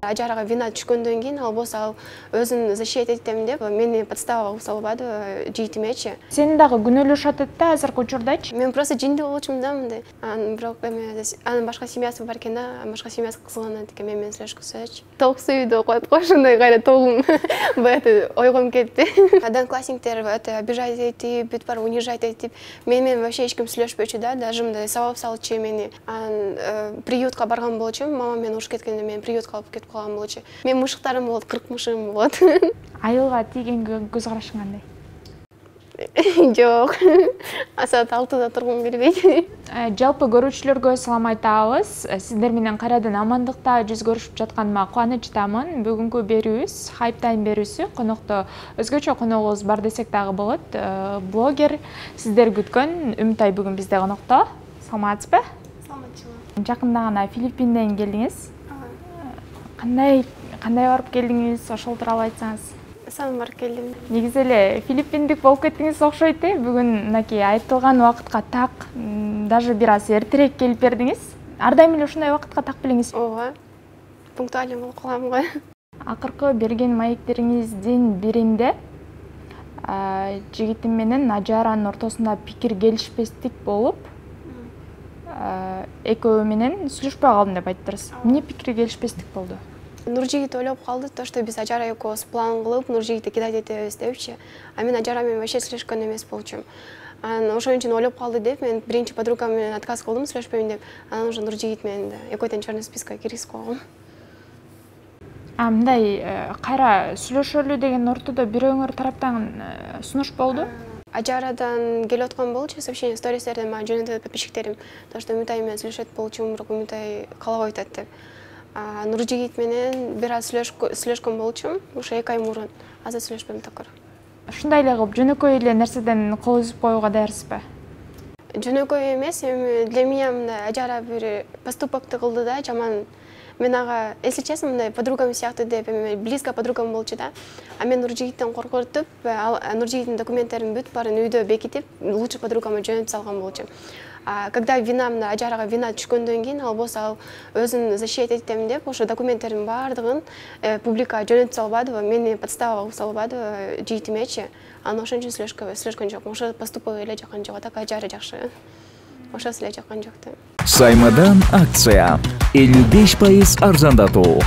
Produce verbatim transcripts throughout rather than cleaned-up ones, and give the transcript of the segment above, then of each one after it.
Ажарага вина түшкөндөн кийин ал болсо ал өзүн защищать этем деп мени подстава кылып салбады жыйтимечи. Сени дагы күнөөлөшүп атат да азыркы учурдачы? Мен просто жиндүү болчумун да мындай. Анан бирок эме анын башка семьясы бар экен да, башка семьясы кызганат экен мен менен сүйлөшкүсөчү. Толук сүйүүдө коет го ошондой кайра толугум баягы ойгом кетти. Одноклассниктер өтө обижать этип, бүт бар унижать этип, мен менен вообще эч ким сүйлөшпөчү да, даже мындай сабап салчу мени. Анан приютка барган болчумун, мамам мени уруш кеткенде мен приютка алып кетип калган болчу. Мен мышыктарым болот, кырк мышыгым болот. Айылга тийгенге көз карашың кандай? Жок. Саат алтыда тургум келбейт. Жалпы көрүүчүлөргө салам айтабыз. Сиздер менен кайрадан амандыкта жүз көрүшүп жатканыма кубанычтамын. Бүгүнкү берүүбүз Hype Time берүүсү. Конокто өзгөчө коногубуз бар десек дагы болот. Блогер сиздер күткөн Үмүтай бүгүн бизде конокто. Саламатсызбы? Саламатчылык. Жакында гана Филиппинден келдиңиз. Кандай кандай барып келдиңиз? Ошол тууралуу айтсаңыз. Сам барып келдим. Негизи эле филиппиндик болуп кеттиңиз окшойт э. Бүгүн мынакей айтылган убакытка так, даже бир аз эртерээк келип бердиңиз. Ар дайым эле ушундай убакытка так белеңиз. Ооба. Пунктуальный болуп калам го. Акыркы берген маектериңиздин биринде жигитим менен Ажаранын ортосунда пикир келишпестик болуп, экөө менен сүйлөшпөй калдым деп айттыңыз. Эмне пикир келишпестик болду? Нуржигит ойлоп калды, то что биз Ажара экөөбүз план кылып, Нуржигитти кидать этебиз депчи. А мен Ажара менен вообще сүйлөшкөн эмес болчумун. Анан ошон үчүн ойлоп калды деп, мен биринчи подругам менен отказ кылдым, сүйлөшпөйм деп. Анан уже Нуржигит менен экөөтөн черный спискага киргизип койгом. А мындай кайра сүйлөшөлү деген ортодо бирөөңөр тараптан сунуш болду? Ажарадан келип аткан болчу, сообщение стористерден мага жөнөтөт подписчиктерим, то что Үмүтай менен сүйлөшөт болчумун, бирок Үмүтай каалабай атат деп. Нуржигит менен бир аз сүйлөшкөн болчумун, ошо эки ай мурун. Азыр сүйлөшпөйм такыр. Ушундай эле кылып жөнөкөй эле нерседен кол үзүп коюуга даярсызбы? Жөнөкөй эмес, эми для меня мындай Ажара бир поступокты кылды да, жаман. Мен ага, если честно, мындай подругам сыяктуу деп, эми близко подругам болчу да. А мен Нуржигиттен коркутуп, Нуржигиттин документтерин бүт баарын үйдө бекитип, лучший подругама жөнөтүп салган болчумун. А когда вина мына Ажарага вина түшкөндөн кийин ал болсо ал өзүн защищать этем деп, ошо документтердин баардыгын публикага жөнөтүп салбадыбы, мени подстава кылып салбадыбы жыйтимечи. Анан ошон үчүн сүйлөшкөн жокмун. Ошо поступок эле жаккан жок, так Ажара жакшы. Ошосу эле жаккан жок да. Саймадан акция элүү беш пайыз арзандатуу.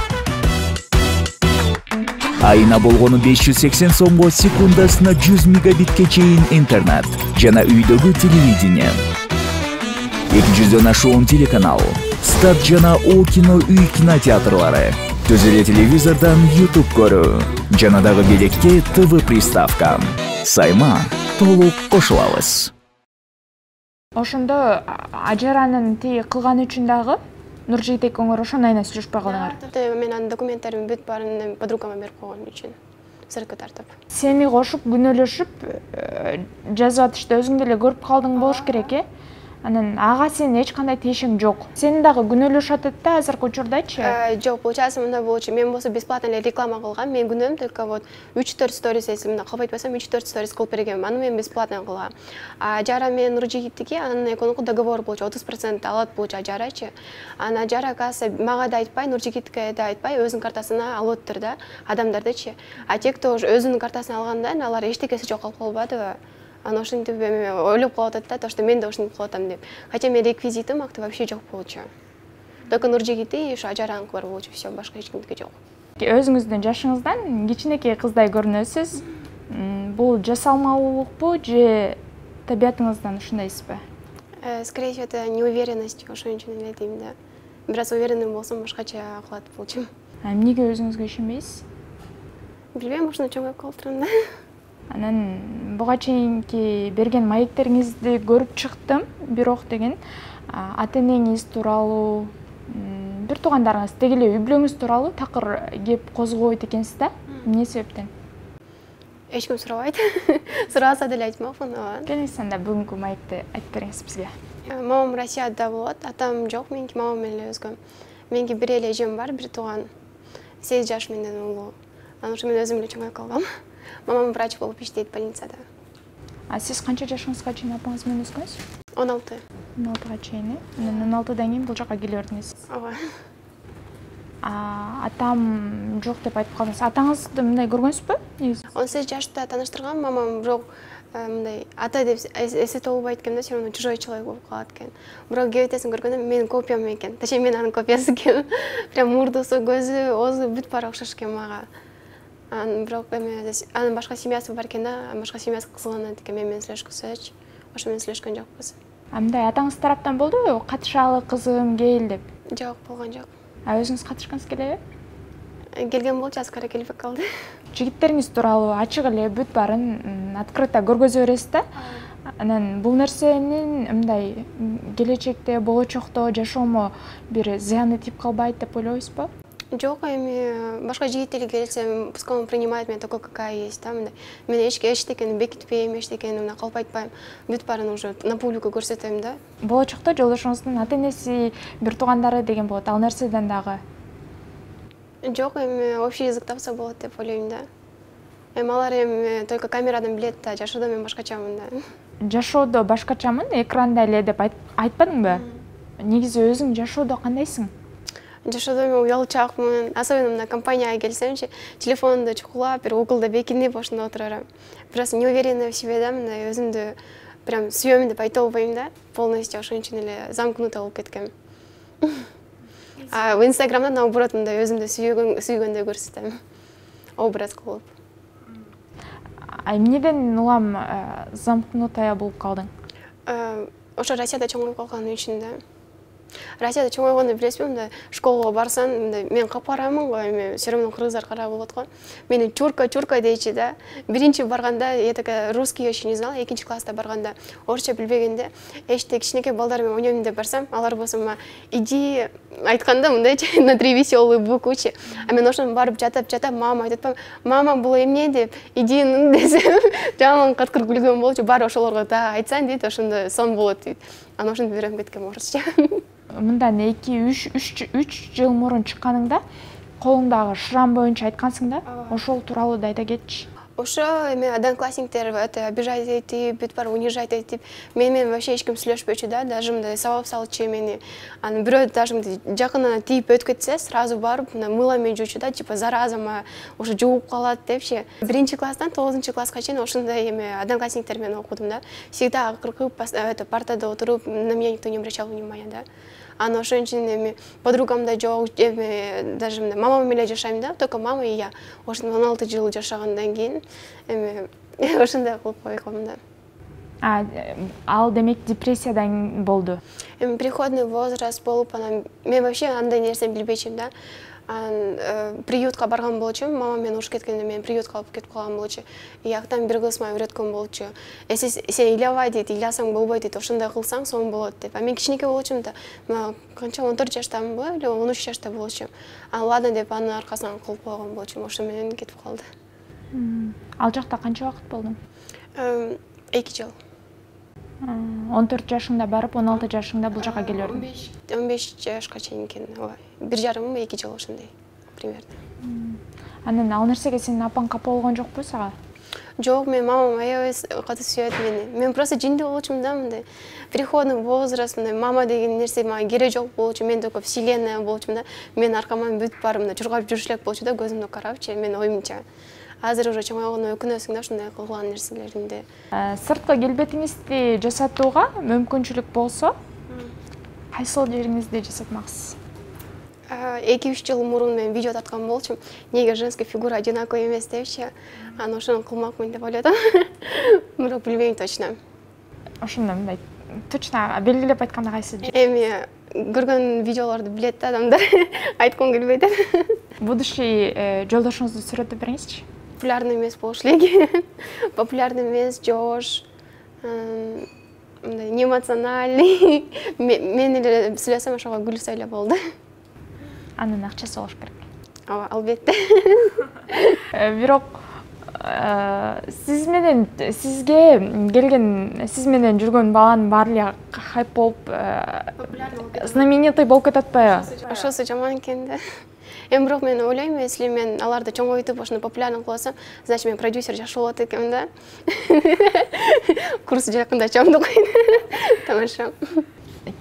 Айына болгону беш жүз сексен сомго секундасына жүз мегабитке чейин интернет жана үйдөгү телевидение. эки жүздөн ашуун телеканал, Стат жана О кино үй кинотеатрлары, түз эле телевизордон YouTube көрүү, жана дагы белекте ТВ приставка. Сайма толук кошулабыз. Ошондо Ажаранын тиги кылганы үчүн дагы Нуржигит экөөңөр ошондой айна сүйлөшпөй калдыңар. Мен анын документтерин бүт баарын подругама берип койгон үчүн. Сыркы тартып. Сени кошуп күнөөлөшүп жазып атышты, өзүң деле көрүп калдың болуш керек э. Анан ага сенин эч кандай тиешең жок. Сени дагы күнөөлөшүп атат да азыркы учурдачы? Жок, получается мындай болчу. Мен болсо бесплатно эле реклама кылгам. Мен күнөм только вот үч төрт сторис, если мына кабыл айтпасам, үч төрт сторис кылып бергем. Аны мен бесплатно кылгам. А Ажара менен Нуржигиттики анын экөөнүн договор болчу, отуз процент алат болчу Ажарачы. Анан Ажара каса мага да айтпай, Нуржигитке да айтпай, өзүнүн картасына алып өттүр да, адамдардычы. А те, кто өзүнүн картасына алгандан, алар эчтекеси жок калып калбадыбы? Анан ошентип ойлоп калып атат да, то что мен да ошентип кылып атам деп. Хотя мен реквизитим акты вообще жок болчу. Только Нуржигити и ушу Ажараныкы бар болчу, всё, башка эч кимдики жок. Өзүңүздүн жашыңыздан кичинекей кыздай көрүнөсүз. Бул жасалмалуулукпу же табиятыңыздан ушундайсызбы? Скорее всего, это неуверенность, ошон үчүн эле дейм да. Бир аз уверенный болсом, башкача кылат болчумун. А эмнеге өзүңүзгө ишенбейсиз? Билбейм, ушуну чоңоюп калыптырмын да. Анан буга чейинки берген маектериңизди көрүп чыктым, бирок деген ата-энеңиз тууралуу, бир туугандарыңыз, деги эле үй бүлөңүз тууралуу такыр кеп козгобойт экенсиз да. Эмне себептен? Эч ким сурабайт. Сураса деле айтмакмын. Келиңиз анда бүгүнкү маекти айтып бериңиз бизге. Мамам Россияда болот, атам жок, меники мамам менен эле өскөм. Меники бир эле эжем бар, бир тууган. сегиз жаш менден улуу. Анан ушу мен өзүм эле чоңоюп калгам. Мамам врач болуп иштейт больницада. А сиз канча жашыңызга чейин апаңыз менен өскөнсүз? он алты. он алтыга чейин, э? Анан он алтыдан кийин бул жака келе бердиңиз. Ооба. Атам жок деп айтып калдыңыз. Атаңызды мындай көргөнсүзбү? Негизи. он сегиз жашта тааныштыргам, мамам бирок мындай ата деп эсете албайт экен да, все равно чужой человек болуп калат экен. Бирок кебетесин көргөндө менин копиям экен. Точнее, мен анын копиясы экен. Прям мурдусу, көзү, оозу бүт баары окшош экен мага. Анын бирок эме анын башка семьясы бар экен да, башка семьясы кызганат экен мен менен сүйлөшкүсөчү. Ошо менен сүйлөшкөн жокпуз. Мындай атаңыз тараптан болдубу? Катышалы кызым кел деп. Жок, болгон жок. А өзүңүз катышкыңыз келеби? Келген болчу, азыр кара келбей калды. Жигиттериңиз тууралуу ачык эле бүт баарын открыто көргөзө бересиз да. Анан бул нерсенин мындай келечекте, болочокто жашоомо бир зыяны тип калбайт деп ойлойсузбу? Жок, эми башка жигиттер келсе, пускай он принимает меня такой, какая есть, да, мен эчтекени бекитпейм, эчтекени мына калп айтпайм. Бүт баарын уже на публику көрсөтөм да. Болочокто жолдошуңуздун ата-энеси, бир туугандары деген болот. Ал нерседен дагы жок, эми общий язык тапса болот деп ойлойм да. Эми алар эми только камерадан билет да, жашоодо мен башкачамын да. Жашоодо башкачамын, экранда эле деп айтпадыңбы? Негизи өзүң жашоодо кандайсың? Жашоодо мен уялчаакмын. Особенно мына компанияга келсемчи, телефонду чукулап, бир уголда бекинип ошондо отура берем. Просто неуверенная в себе да, мындай өзүмдү прям сүйөм деп айта албайм да. Полностью ошон үчүн эле замкнутый болуп кеткем. А в Инстаграмда наоборот мындай өзүмдү сүйгөндөй көрсөтөм. Образ кылып. А эмнеден улам замкнутая болуп калдың? Ошо Россияда чоңоюп калган үчүн да. Россияда чоңойгондо билесизби, мындай школага барсаң, мындай мен капарамын го, эми все равно кыргыздар кара болот го. Мени чурка чурка дейчи да. Биринчи барганда я такая русский еще не знала, экинчи класста барганда орусча билбегенде, эшикте кичинекей балдар менен ойнойм деп барсам, алар болсо мага иди айтканда мындай на три веселые буквы. А мен ошондон барып жатып жатып мама айтып атпам, мама бул эмне деп, иди десем, жаман каткыр күлгөн болчу. Баары ошолорго да айтсаң дейт, ошондо сон болот дейт. Анан ошентип үйрөнүп кеткем орусча. Мындан эки үч жыл мурун чыкканыңда колуңдагы шрам боюнча айткансың да, ошол тууралуу да айта кетчи. Ошо эми одноклассниктер это обижать этип, бүт баары унижать этип, мен менен вообще эч ким сүйлөшпөчү да, даже мындай сабап салчу мени. Анан бирөө даже мындай жакынынан тийип өтүп кетсе, сразу барып мына мыло менен жуучу да, типа заразама уже жууп калат депчи. Биринчи класстан тогузунчу класска чейин ошондой эми однокласниктер менен окудум да. Всегда акыркы партада отуруп, на меня никто не обращал внимания, да. Анан ошон үчүн эми подругам да жок, эми даже мамам менен жашайм да, только мама и я. Ошондо он алты жыл жашагандан кийин эми ошондой кылып койгом да. А ал демек депрессиядан болду. Эми переходный возраст болуп, анан мен вообще андай нерсени билбечүмүн да. Анан приютка барган болчумун, мама менен урушуп кеткенде мен приютка алып кетип калган болчу. Ияктан бир кыз мага үйрөткөн болчу. Эси сен ыйлабай дейт, ыйласаң болбойт дейт, ошондой кылсаң сон болот деп. А мен кичинекей болчумун да. Мына канча он төрт жаштамынбы, или он үч жашта болчумун. А ладно деп анын аркасынан кылып койгон болчумун, ошо менен кетип калды. Ал жакта канча убакыт болдуң? эки жыл. он төрт жашыңда барып, он алты жашыңда бул жака келип он беш жашка чейин экен. бир жарым эки жыл ошондой примерно. Анан ал нерсеге сенин апаң капа болгон жокпу сага? Жок, мен мамам аябай катуу сүйөт мени. Мен просто жиндүү болчумун да, мындай переходный возраст, мындай мама деген нерсе мага кереги жок болчу, мен только вселенная болчумун да. Мен аркаман бүт баары мындай чургап жүрүш элек болчу да, көзүмдү карапчы, мен оюмча. Азыр уже чоңойгондо өкүнөсүң да, ушундай кылган нерселеримди. Сырткы келбетиңизди жасатууга мүмкүнчүлүк болсо, кайсыл жериңизди жасатмаксыз? эки үч жыл мурун мен видео тарткан болчумун. Неге женский фигура одинаковый эмес депчи. Анан ошону кылмакмын деп ойлодум. Бирок билбейм точно. Ошондо мындай точно белгилеп айтканда кайсы? Эми көргөн видеолорду билет да адамдар. Айткым келбейт. Будущий жолдошуңузду сүрөтүп бериңизчи. Популярный эмес болуш элек. Популярный эмес, жош, мындай неэмоциональный. Мен эле сүйлөсөм ошого күлсө эле болду. Анын акчасы болуш керек. Ооба, албетте. Бирок сиз менен сизге келген, сиз менен жүргөн баланын баары эле хайп болуп, знаменитый болуп кетип атпайбы? Ошосу жаман экен да. Эми бирок мен ойлойм, если мен аларды чоңойтуп ошону популярный кылып алсам, значит мен продюсер жакшы болот экенмин да. Курс жакында ачам да койду. Тамаша.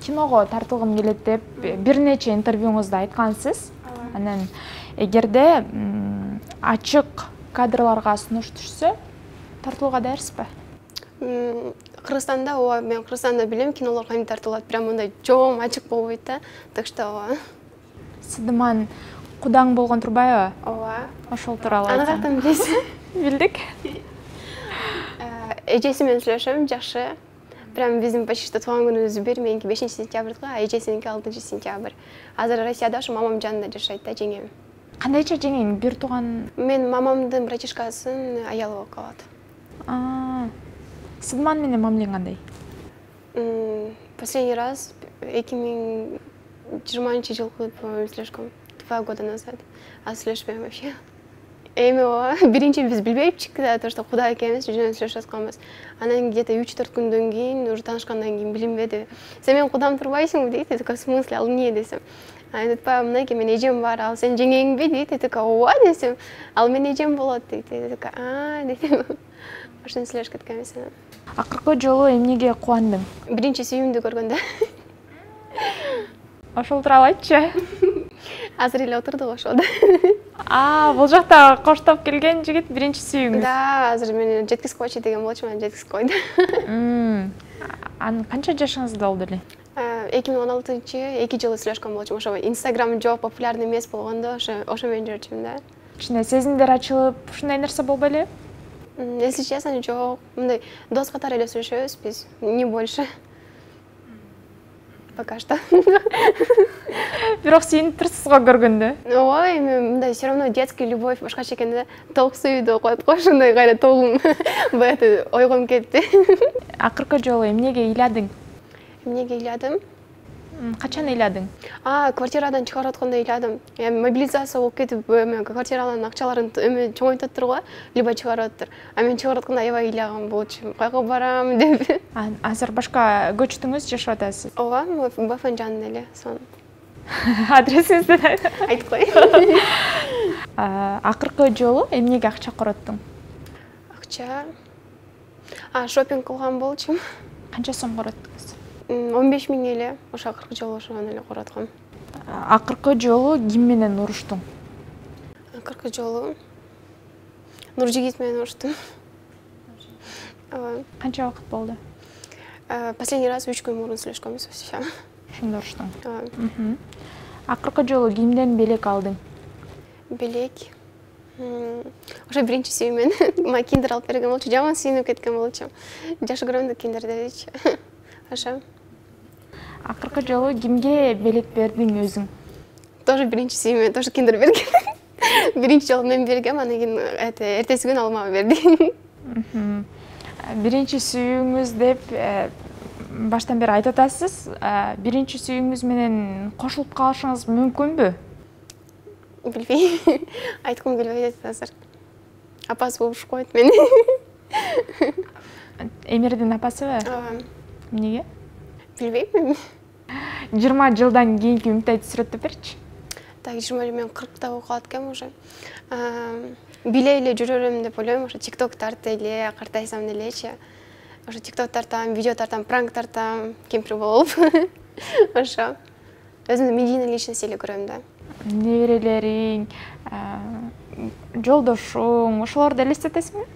Киного тартылгым келет деп бир нече интервьюңузда айткансыз. Анан эгерде ачык кадрларга сунуш түшсө, тартылууга даярсызбы? Кыргызстанда ооба, мен Кыргызстанда билем, кинолор кантип тартылат, прям мындай чоң ачык болбойт да. Так что ооба. Сыдыман кудаң болгон турбайбы? Ооба. Ошол тууралуу Аны айтсаң. каяктан билесиз? Билдик. Эжеси менен сүйлөшөм, жакшы. Прям биздин почти что туулган күнүбүз бир, меники бешинчи сентябрь го, а эжесиники алтынчы сентябрь. Азыр Россияда ушу мамам жанында жашайт да, жеңем. Кандайча жеңең бир тууган? Мен мамамдын братишкасынын аялы болуп калат. Сыдыман менен мамилең кандай? Последний раз эки миң жыйырманчы жылкы сүйлөшкөм. Два года назад. А сүйлөшпөйм вообще. Эми ооба, биринчи биз билбейпчик да, то что куда экенибиз, жөн сүйлөшүп атканбыз. Анан где-то үч төрт күндөн кийин, уже таанышкандан кийин билинбеди. Сен менин кудам турбайсыңбы дейт, я такая, в смысле, ал эмне десем. Анан айтпа, мынакей, менин эжем бар, ал сенин жеңеңби дейт, я такая, ооба десем. Ал менин эжем болот дейт, я такая, а дейт. Ошентип сүйлөшүп кеткенбиз анан. Акыркы жолу эмнеге кубандың? Биринчи сүйүүмдү көргөндө. Ошол тууралуу айтчы. Азыр эле отурдук ошодо. А, бул жакта коштоп келген жигит биринчи сүйүүңүз. Да, азыр мени жеткизип койчу деген болчу, мени жеткизип койду. Анан канча жашыңызда болду эле? эки миң он алтынчы эки жылы сүйлөшкөн болчумун. Ошо Инстаграм жок, популярный эмес болгондо, ошо ошо менен жүрчүмүн да. Кичине сезимдер ачылып, ушундай нерсе болбой эле? Если честно, жок. Мындай дос катары эле сүйлөшөбүз биз, не больше. Пока что. Бирок сүйүнүп турсуз го көргөндө. Ооба, эми мындай все равно детский любовь башкача экен да. Толук сүйүүдө коет го, ошондой кайра толугум баягы ойгом кетти. Акыркы жолу эмнеге ыйладың? Эмнеге ыйладым? Качан ыйладың? А, квартирадан чыгарып атканда ыйладым. Эми мобилизация болуп кетип, эми квартиранын акчаларын эми чоңойтуптур го, либо чыгарып аттыр. А мен чыгарып атканда аябай ыйлаган болчумун. Кайга барам деп. Азыр башка көчтүңүз, жашап атасыз? Ооба, Бафан жанында эле, сон. Адресиңизди айтып кой. Акыркы жолу эмнеге акча короттуң? Акча? А, шопинг кылган болчумун. Канча сом короттуңуз? он беш миң эле, ошо акыркы жолу ошону эле коротком. Акыркы жолу ким менен уруштуң? Акыркы жолу Нуржигит менен уруштум. Канча убакыт болду? Последний раз үч күн мурун сүйлөшкөнбүз. Ошондо уруштуң. Акыркы жолу кимден белек алдың? Белек? Ошо биринчи сүйүүмөн мага киндер алып берген болчу, жаман сүйүнүп кеткен болчумун. Жакшы көрөм да киндерди дечи. Ошо. Акыркы жолу кимге белек бердиң өзүң? Тоже биринчи сүйүүмөн, тоже киндер берген. Биринчи жолу мен бергем, анан кийин эртеси күнү ал мага берди. Биринчи сүйүүңүз деп баштан бери айтып атасыз. Биринчи сүйүүңүз менен кошулуп калышыңыз мүмкүнбү? Билбейм. Айткым келбей атат азыр. Апасы болуш койт мени. Эмирдин апасыбы? Ооба. Эмнеге? Билбейм. жыйырма жылдан кийинки үмүттайды сүрөттөп берчи. Так, жыйырма мен кыркта болуп калат экенмин уже. Биле эле жүрөрүм деп ойлойм, ошо TikTok тартып эле, картайсам делечи. Ошо TikTok тартам, видео тартам, пранк тартам, кемпир болуп. Ошо. Өзүмдү медийный личность эле көрөм да. Неберелериң, жолдошуң, ошолорду элестетесиңби?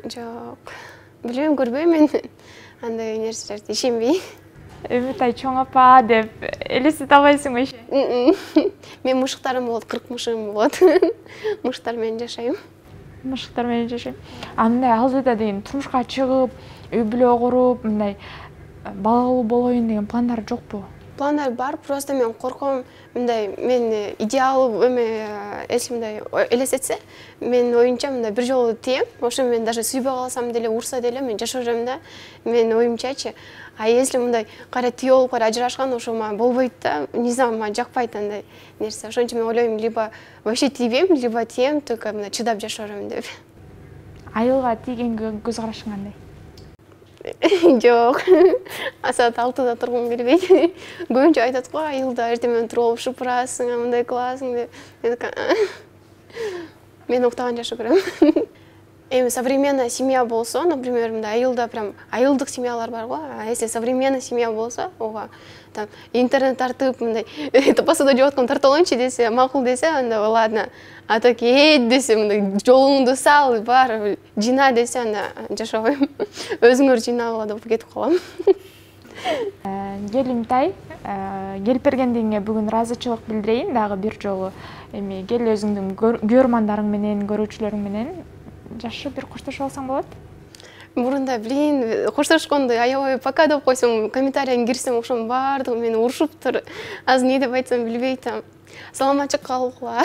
Жок. Билбейм, көрбөйм мен андай нерселерди, ишенбейм. Үмүтай чоң апа деп элестете албайсыңбы иши? Мен мушуктарым болот, кырк мушугум болот. Мушуктар менен жашайм. Мушуктар менен жашайм. Андай алдыда деген турмушка чыгып, үй бүлө куруп, мындай балалуу болоюн деген пландар жокпу? Пландар бар, просто мен корком, мындай мен идеал эме эсим мындай элестетсе, мен оюмча мындай бир жолу тием, ошо мен даже сүйбөй калсам деле, урса деле мен жашап жүрөм да. Мен оюмчачы. А если мындай кайра түйө болуп кайра ажырашкан, ошо мага болбойт да. Не знаю, мага жакпайт андай нерсе. Ошон үчүн мен ойлойм, либо вообще тийбейм, либо тием, только мына чыдап жашап жүрөм деп. Айылга тийгенге көз карашың кандай? Жок. Саат алтыда тургум келбейт. Көбүнчө айтат го, айылда эртең менен туруп алып шыпырасың, мындай кыласың деп. Мен уктаган жакшы көрөм. эми современная семья болсо, например, мындай айылда прям айылдык семьялар бар го. А если современная семья болсо, ого, там интернет тартып, мындай посуда жууп аткан тартып алайынчы десе, макул десе, анда ладно. А так эйт десе, мындай жолуңду сал, бар, жина десе, анда жашабайм. Өзүңөр жинагыла деп кетип калам. Келимтай, келип бергендигиңе бүгүн ыраазычылык билдирейин дагы бир жолу. Эми кел өзүңдүн көрөрмандарың менен, көрүүчүлөрүң менен жашы бир коштошуп алсаң болот. Мурунда, блин, коштошкондо аябай пока деп койсом, комментарийге кирсем, ошонун баардыгы мени урушуптур. Азыр эмне деп айтсам билбей атам. Саламатчы калгыла.